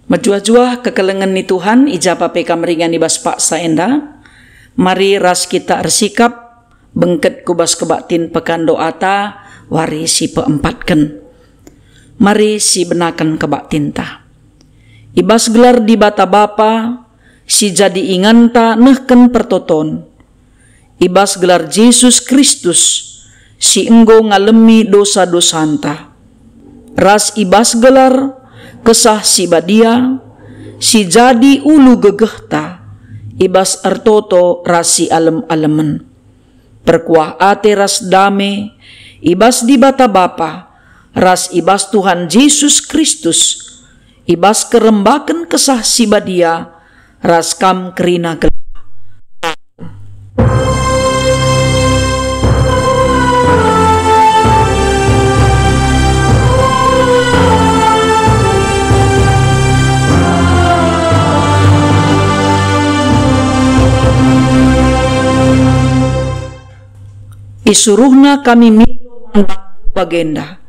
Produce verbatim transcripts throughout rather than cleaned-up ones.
Mejuah-juah kekelengen ni Tuhan, i ja pe kam ringan i bas paksa enda. Mari ras kita ersikap, bengket ku bas kebaktin pekan doata, wari si peempatken. Mari sibenaken kebaktinta. I bas gelar Dibata Bapa, si jadi inganta nehken pertoton, i bas gelar Jesus Kristus, si enggo ngalemi dosa-dosanta, ras i bas gelar Kesah Si Badia, si jadi ulu gegehta, i bas ertoto ras sialem-alemen. Perkuah ate ras dame, i bas Dibata Bapa, ras i bas Tuhan Jesus Kristus, i bas kerembaken Kesah Si Badia, ras kam kerina gelah. Isuruhna kami mindo man bandu bagenda.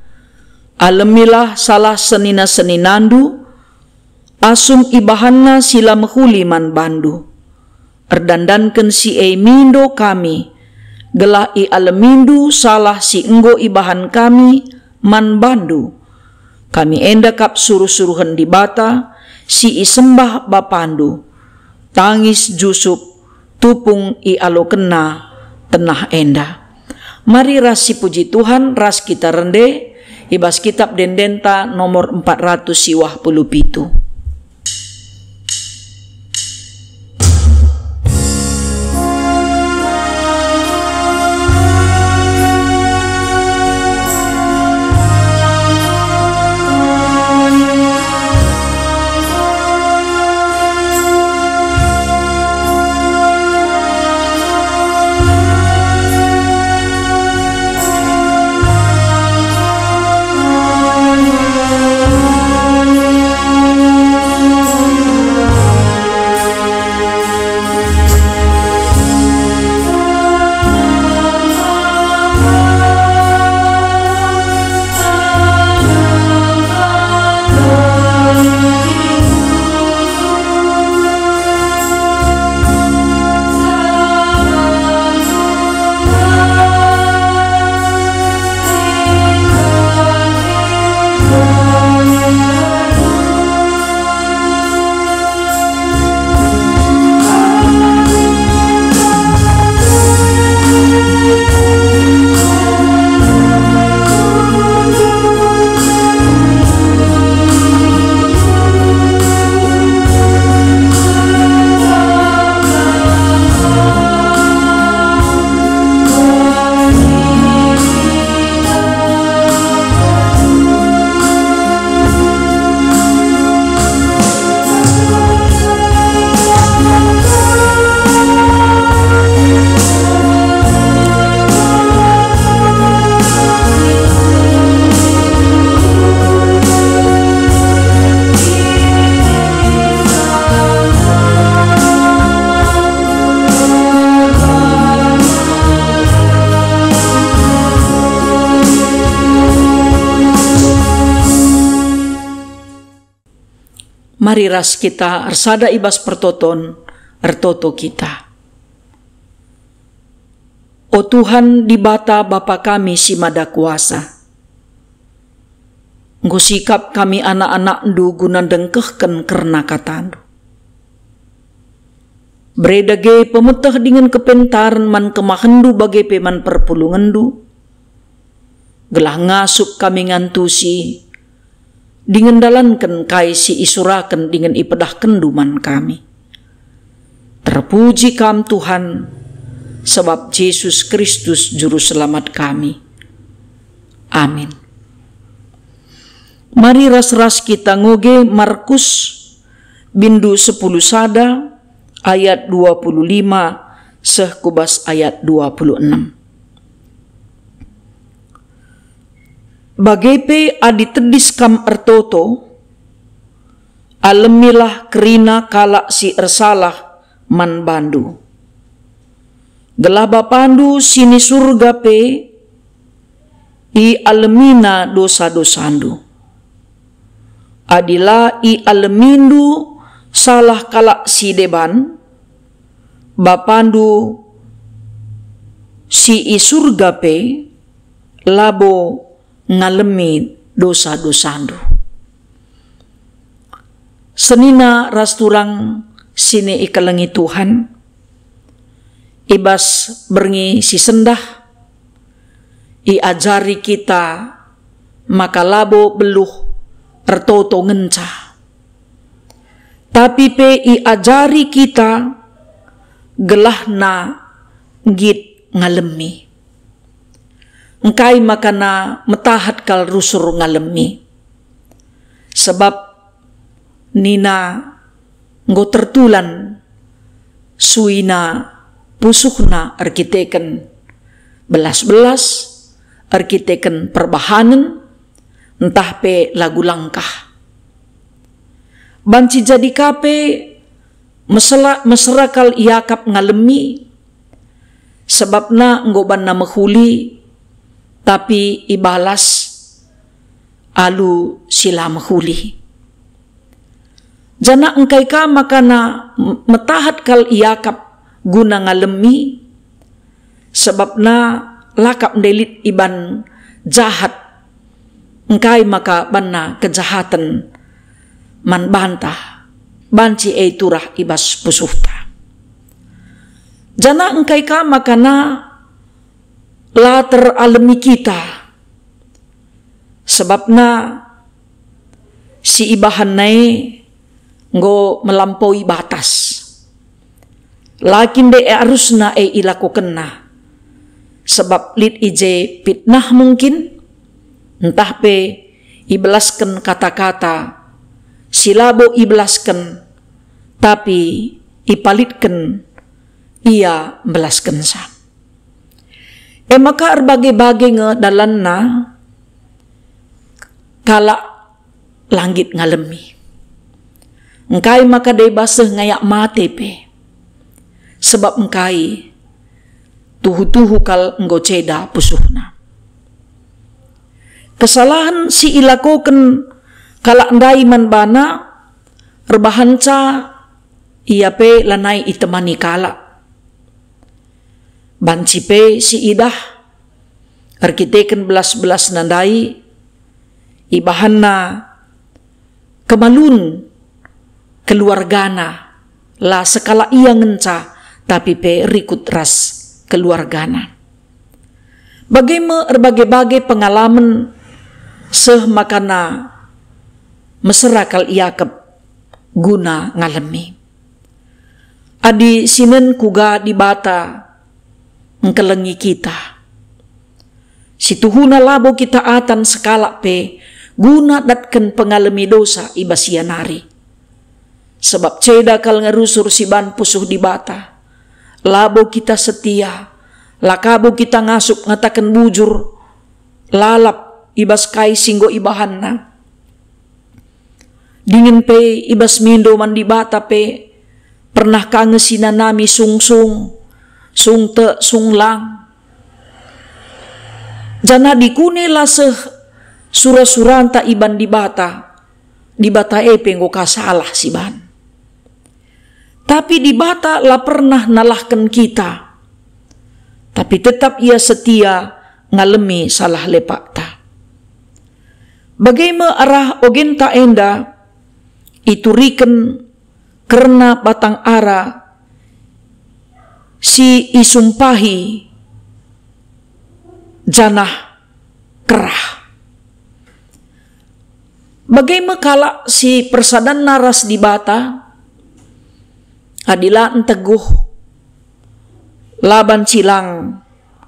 Alemilah salah senina-seninandu, asum ibahanna si la mehuli man bandu. Erdandanken si e mindo kami, gelah ialemindu salah si enggo ibahan kami man bandu. Kami enda kap suruh-suruhen Dibata si isembah Bapandu. Tangis jusup, tupung ialokenna tenah enda. Mari ras sipuji Tuhan ras kita rende i bas Kitab Ende-endenta nomor empat ratus siwah puluh pitu. Mari ras kita ersada i bas pertoton, ertoto kita. O Tuhan Dibata Bapa kami si Mada Kuasa, enggo sikap kami anak-anakNdu guna ndengkehken kerna kataNdu. Bere dage pemeteh dingen kepentaren man kemahenNdu bage pe man perpulungenNdu, gelah ngasup kami ngantusi dingen ndalanken kai si isuraken dingen ipedahkenNdu man kami. Terpuji Kam, Tuhan, sabap Jesus Kristus Juru Selamat kami. Amin. Mari ras-ras kita ngoge Markus bindu sepuluh sada ayat dua puluh lima seh ku bas ayat dua puluh enam. Bage pe adi tedis kam ertoto, Alemilah kerina kalak si ersalah man bandu, gelah Bapandu si ni Surga pe ialemiNa dosa-dosandu. Adi la ialemindu salah kalak si deban, Bapandu si i Surga pe labo ngalemi dosa-dosandu. Senina ras turang si ikelengi Tuhan, i bas berngi si sendah, iajari kita maka labo beluh ertoto ngenca, tapi pe iajari kita gelahna nggit ngalemi. Engkai makana metahat kal rusur ngalemi? Sebab nina enggo tertulan suina pusuhna erkiteken belas-belas, erkiteken perbahanen, ntah pe lagu langkah. Banci jadi ka pe mesela-, mesera kal iakap ngalemi, sebabna enggo banna mehuli, tapi ibalas alu si la mehuli. Janah engkai ka makana m-, metahat kal iakap guna ngalemi, sebabna la kap ndelit iban jahat, engkai maka banna kejahaten man banta, banci e turah i bas pusuhta. Janah engkai ka makana la teralemi kita, sebabna si ibahanna e enggo melampaui batas. La kin nde arusna e ilakokenna, sebab lit i je pitnah mungkin, ntah pe ibelasken kata-kata si labo ibelasken, tapi ipalitken ia mbelaskenca. E maka erbage-bage nge dalanna kalak la nggit ngalemi. Engkai maka deba seh ngayak mate pe? Sebab engkai? Tuhu-tuhu kal enggo ceda pusuhna. Kesalahen si ilakoken kalak ndai man bana erbahanca ia pe lanai itemani kalak. Banci pe si idah erkiteken belas-belasna ndai, ibahanna kemalun keluargana, la sekalak ia ngenca, tapi pe rikut ras keluargana. Bage me erbage-bage pengalamen seh makana mesera kal iakap guna ngalemi. Adi sinen kuga Dibata engkelengi kita. Situhuna labo kita atan sekalak pe guna datken pengalemi dosa i bas ia nari. Sebab ceda kal ngerusur si ban pusuh Dibata. Labo kita setia, la kabo kita ngasup ngataken bujur, lalap i bas kai si enggo ibahanna. Dingen pe i bas mindo man Dibata pe pernah ka nge sinanami sungsung, sung tek, sung lang. Janah dikune la seh sura-suranta iban Dibata, Dibata e pe enggo ka salah si ban. Tapi Dibata la pernah nalahken kita, tapi tetap Ia setia ngalemi salah lepakta. Bage me arah ogenta enda ituriken kerna batang ara si isumpahi janah kerah. Bage me kalak si persadanna ras Dibata, adi la nteguh, la banci lang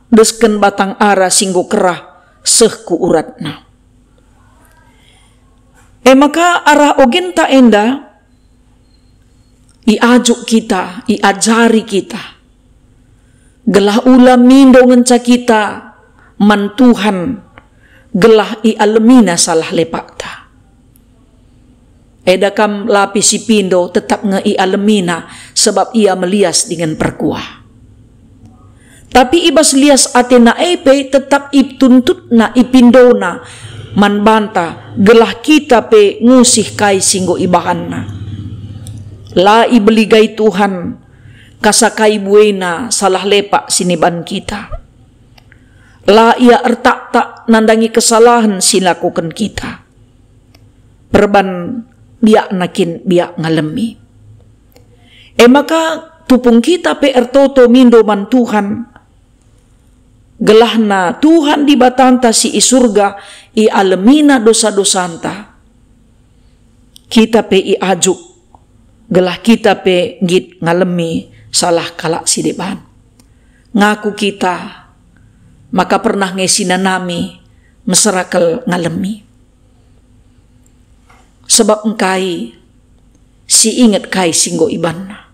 desken batang ara si enggo kerah seh ku uratna. E maka arah ogenta enda, iajuk kita, iajari kita, gelah ula mindo ngenca kita man Tuhan, gelah ialemina salah lepakta. Eda kam la pe si pindo tetap nge ialemina, sebab ia melias dingen perkuah. Tapi i bas lias atena e pe tetap ituntutna, ipindona man banta, gelah kita pe ngusih kai si enggo ibahanna. La ibeligai Tuhan kasa kai buena salah lepak si niban kita. La ia ertaktak nandangi kesalahen si lakoken kita. Perban biakna kin biak ngalemi. E maka tupung kita pe ertoto mindo man Tuhan, gelahna Tuhan Dibatanta si i Surga ialemina dosa-dosanta. Kita pe iajuk, gelah kita pe nggit ngalemi salah kalak si deban. Ngaku kita maka pernah nge sinanami mesera kal ngalemi. Sebab engkai si inget kai si enggo ibanna.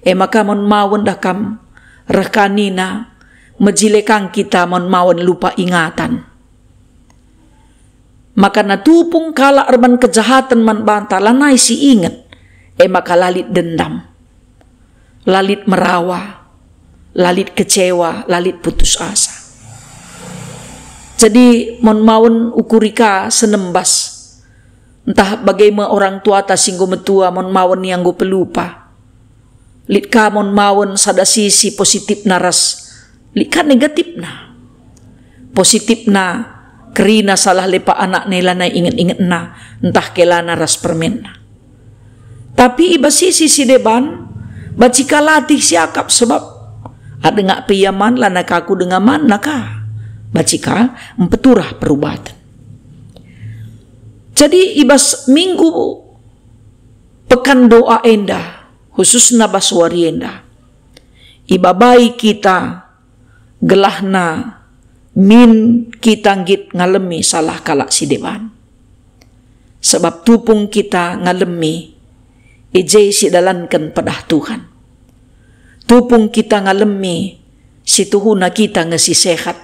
E maka mon mawen dah kam reh ka nina, mejile kang kita mon mawen lupa ingatan. Maka na tupung kalak erban kejahaten man banta lanai si inget, e maka la lit dendam, la lit merawa, la lit kecewa, la lit putus asa. Jadi mon mawen ukuri ka senembas, ntah bage me orang tuata si enggo metua mon mawen ia enggo pelupa. Lit ka mon mawen sada sisi positifna ras lit ka negatifna. Positifna, kerina salah lepak anakna lanai inget-ingetna, ntah kelana ras permenna. Tapi i bas sisi si deban, banci ka latih siakap sebab adengak pe ia man lanai ka aku denga manna ka. Banci ka mpeturah perubaten. Jadi i bas minggu pekan doa enda, khususna bas wari enda, ibabai kita gelahna min kita nggit ngalemi salah kalak si deban. Sebab tupung kita ngalemi, i je sidalanken pedah Tuhan. Tupung kita ngalemi, situhuna kita nge si sehat,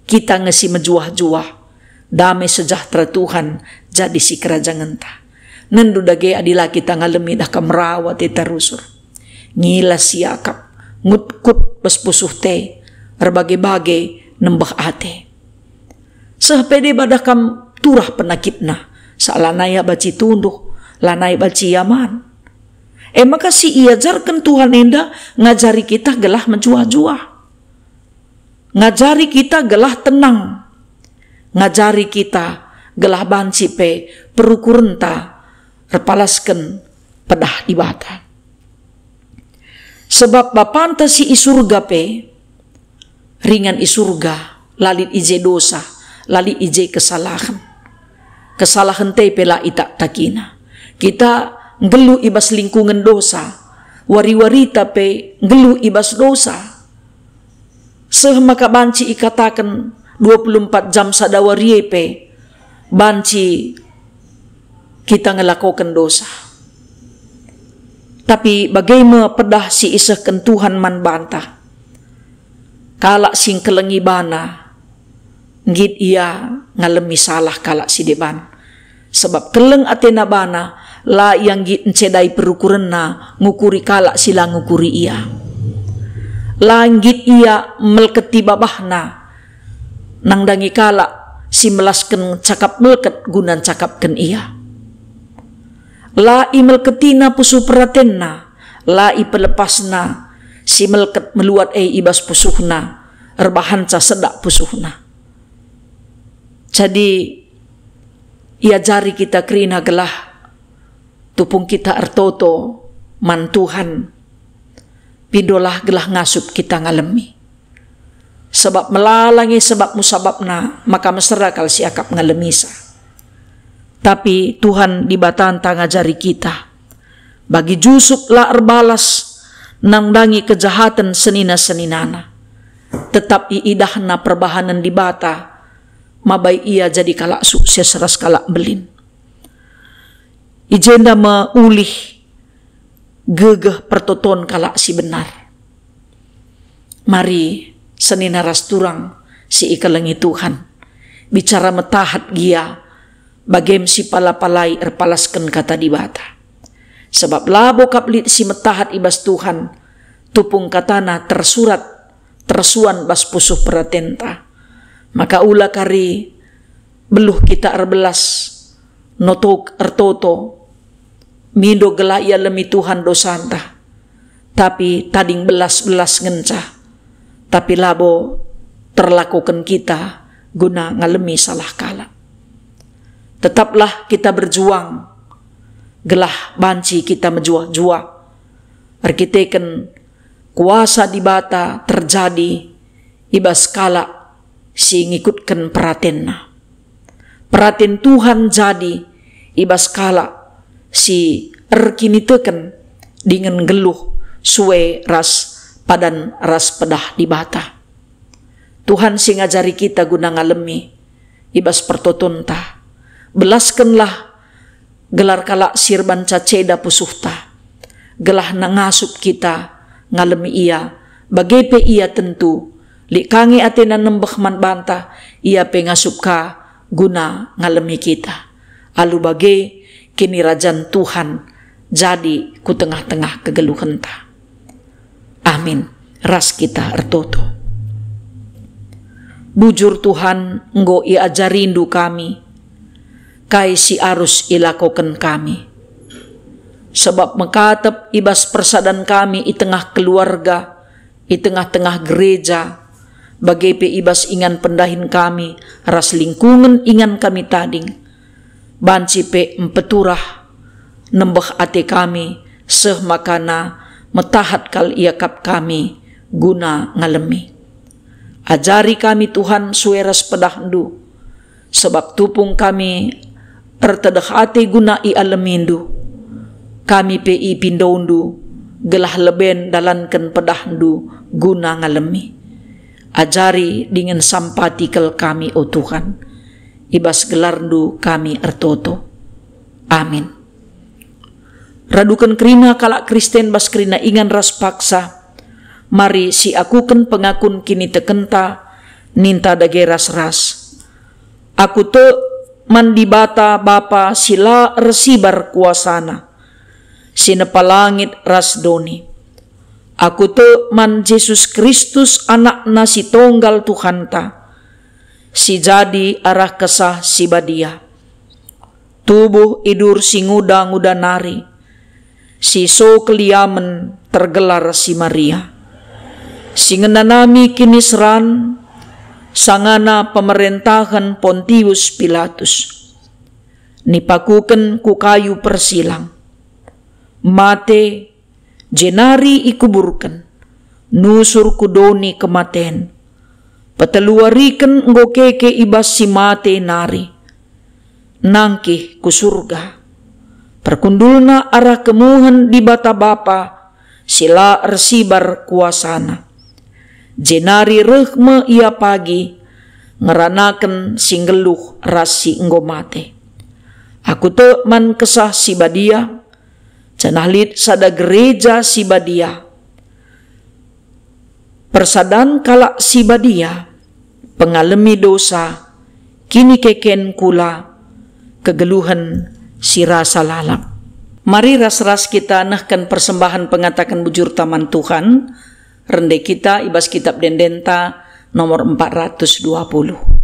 kita nge si mejuah-juah, dame sejahtera Tuhan jadi sikerajangenNa. Nendu dage adi la kita ngalemi dah kam rawa te tarusur. Ngilas siakap, ngutkut bas pusuh te, erbage-bage nembeh ate. Seh pe deba dah kam turah penakitna, sa lanai ia banci tunduh, lanai banci ia man. E maka si iajarken Tuhan enda ngajari kita gelah mejuah-juah. Ngajari kita gelah tenang. Ngajari kita gelah banci pe perukurenta erpalasken pedah Dibata. Sebab Bapanta si i Surga pe ringan i Surga, la lit i je dosa, la lit i je kesalahen. Kesalahen te pe la itaktakina. Kita nggeluh i bas lingkungen dosa, wari-warita pe nggeluh i bas dosa. Seh maka banci ikataken dua puluh empat jam sada wari e pe banci kita ngelakoken dosa. Tapi bage me pedah si isehken Tuhan man banta? Kalak si ngkelengi bana, nggit ia ngalemi salah kalak si deban. Sebab keleng atena bana, la ia nggit ncedai perukurenna ngukuri kalak si la ngukuri ia. La nggit ia melketi babahna nandangi kalak si melasken cakap melket guna ncakapken ia. La imelketina pusuh peratenna, la ipelepasna si melket meluat e i bas pusuhna, erbahanca sedak pusuhna. Jadi, iajari kita kerina gelah tupung kita ertoto man Tuhan, pindolah gelah ngasup kita ngalemi. Sebab melala nge sebabmu sabapna, maka mesera kal siakap ngalemisa. Tapi Tuhan Dibatanta ngajari kita, bagi Jusup la erbalas nandangi kejahaten senina-seninana. Tetap iidahna perbahanen Dibata, mabai ia jadi kalak sukses ras kalak mbelin. I jenda me ulih gegeh pertoton kalak si benar. Mari, senina ras turang si ikelengi Tuhan, bicara metahat gia bagem sipala-palai erpalasken Kata Dibata. Sebab labo kap lit si metahat i bas Tuhan, tupung kataNa tersurat, tersuan bas pusuh peratenta. Maka ula kari beluh kita erbelas, notok ertoto, mindo gelah ialemi Tuhan dosanta, tapi tading belas-belas ngenca, tapi labo terlakoken kita guna ngalemi salah kalak. Tetaplah kita berjuang, gelah banci kita mejuah-juah erkiteken kuasa Dibata terjadi i bas kalak si ngikutken peratenNa. Peraten Tuhan jadi i bas kalak si erkiniteken dingen nggeluh sue ras padan ras pedah Dibata. Tuhan si ngajari kita guna ngalemi i bas pertotonta. Belaskenlah gelar kalak si erbanca ceda pusuhta, gelah ngasup kita ngalemi ia, bage pe ia tentu lit ka nge atena nembeh man banta, ia pe ngasup ka guna ngalemi kita. Alu bage, kinirajan Tuhan jadi ku tengah-tengah kegeluhenta. Amin. Ras kita ertoto. Bujur Tuhan, enggo iajarindu kami kai si arus ilakoken kami. Sebab mekatep i bas persadan kami i tengah keluarga, i tengah-tengah gereja, bage pe i bas ingan pendahin kami ras lingkungen ingan kami tading, banci pe mpeturah nembeh ate kami, seh makana metahat kal iakap kami guna ngalemi. Ajari kami, Tuhan, sue ras pedahNdu, sebab tupung kami ertedeh ate guna ialemindu, kami pe ipindoNdu, gelah leben dalanken pedahNdu guna ngalemi. Ajari dingen sampati kal kami, o Tuhan. I bas gelarNdu kami ertoto. Amin. Raduken kerina kalak Kristen bas kerina ingan ras paksa, mari siakuken pengakun kinitekenta, ninta dage ras-ras. Aku tek man Dibata Bapa si la ersibar kuasaNa, si nepa langit ras doni. Aku tek man Jesus Kristus, AnakNa si tonggal Tuhanta, si jadi arah Kesah Si Badia. Tubuh idur si nguda-nguda nari, si so keliamen tergelar si Maria, si ngenanami kiniseran sangana pemerentahen Pontius Pilatus. Nipakuken ku kayu persilang. Mate, jenari ikuburken, nusur ku doni kematen. Peteluariken enggo keke i bas si mate nari. Nangkih ku Surga. Perkundulna arah kemuhen Dibata Bapa si la ersibar kuasaNa. Jenari reh me Ia pagi ngeranaken si nggeluh ras si enggo mate. Aku tek man Kesah Si Badia, janah lit sada gereja si badia, persadan kalak si badia, pengalemi dosa, kinikeken kula, kegeluhen si rasa lalap. Mari ras-ras kita nehken persembahen pengataken bujurta man Tuhan, rende kita i bas Kitab Ende-endenta nomor empat ratus dua puluh.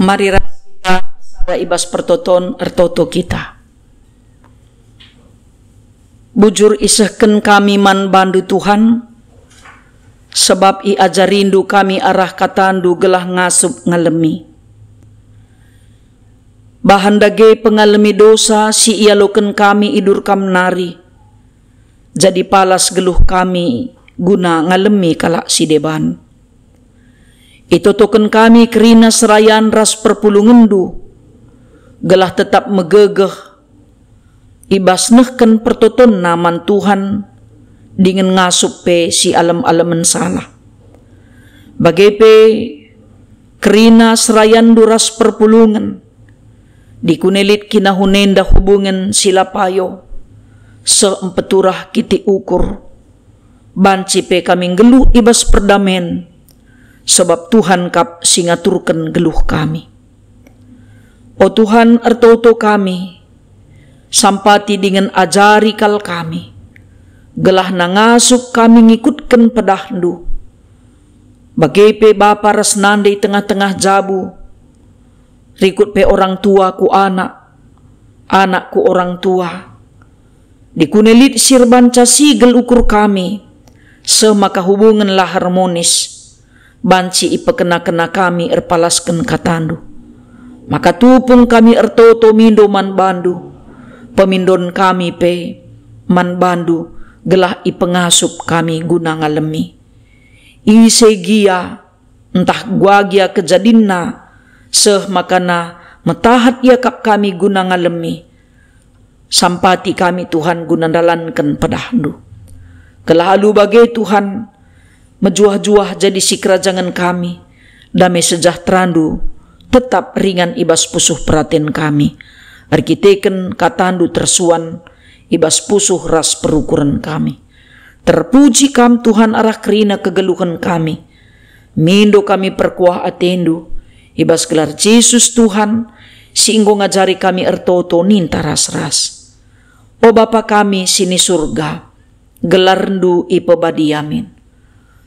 Mari ras kita sada i bas pertoton ertoto kita. Bujur isehken kami man baNdu, Tuhan, sabap iajariNdu kami arah kataNdu gelah ngasup ngalemi. Bahan dage pengalemi dosa si ialoken kami idur Kam nari, jadi palas geluh kami guna ngalemi kalak si deban. Itotoken kami kerina serayan ras perpulungenNdu, gelah tetap megegeh i bas nehken pertotonna man Tuhan dingen ngasup pe si alem-alemen salah. Bage pe kerina serayanNdu ras perpulungen, dikune lit kinahunenda hubungen si la payo, seh mpeturah kitik ukur, banci pe kami nggeluh i bas perdamen, sabap Tuhan kap si ngaturken geluh kami. O Tuhan, ertoto kami, sampati dingen ajari kal kami, gelah ngasup kami ngikutken pedahNdu. Bage pe bapa ras nande i tengah-tengah jabu, rikut pe orang tua ku anak, anak ku orang tua. Dikune lit si erbanca sigel ukur kami, seh maka hubungen la harmonis, banci ipekena-kena kami erpalasken kataNdu. Maka tupung kami ertoto mindo man baNdu, pemindon kami pe man baNdu, gelah ipengasup kami guna ngalemi. Ise gia, ntah kuga gia kejadinna, seh maka metahat iakap kami guna ngalemi. Sampati kami, Tuhan, guna ndalanken pedahNdu. Gelah alu bage, Tuhan, mejuah-juah jadi sikerajangen kami, dame sejahteranndu tetap ringan i bas pusuh peraten kami, erkiteken katandu tersuan i bas pusuh ras perukuren kami. Terpuji Kam, Tuhan, arah kerina kegeluhen kami. Mindo kami perkuah atendu, i bas gelar Jesus, Tuhan, si enggo ngajari kami ertoto ninta ras-ras. O Bapa kami si ni Surga, gelarndu ipebadia min.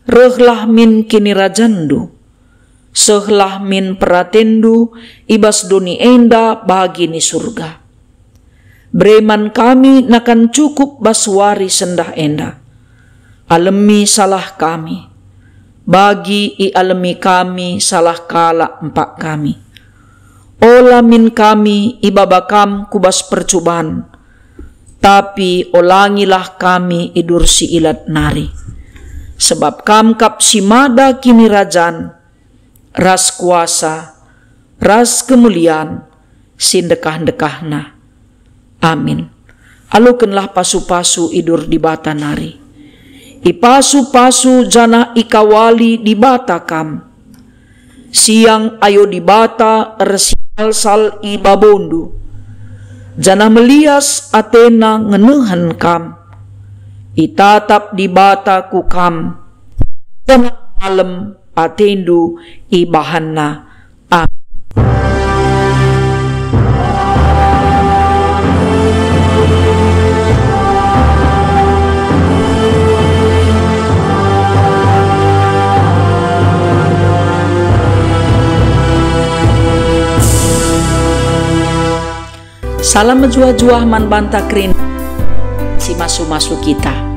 Rehlah min kinirajanndu. Sehlah min peratendu i bas doni enda bagi ni Surga. Bere man kami nakan cukup bas wari sendah enda. Alemi salah kami, bagi ialemi kami salah kalak empak kami. Ola min kami ibaba Kam ku bas percuban, tapi olangilah kami idur si ilat nari. Sebab Kam kap si mada kinirajan, ras kuasa, ras kemulian si ndekah-ndekahna. Amin. Alokenlah pasu-pasu idur Dibata nari. Ipasu-pasu janah ikawali Dibata Kam. Siang ayo Dibata ersialsal i babondu, janah melias atena ngenehen Kam. Itatap Dibata ku Kam, janah malem atendu ibahanNa. Amin. Salam mejuah-juah man banta kerina si masu-masu kita.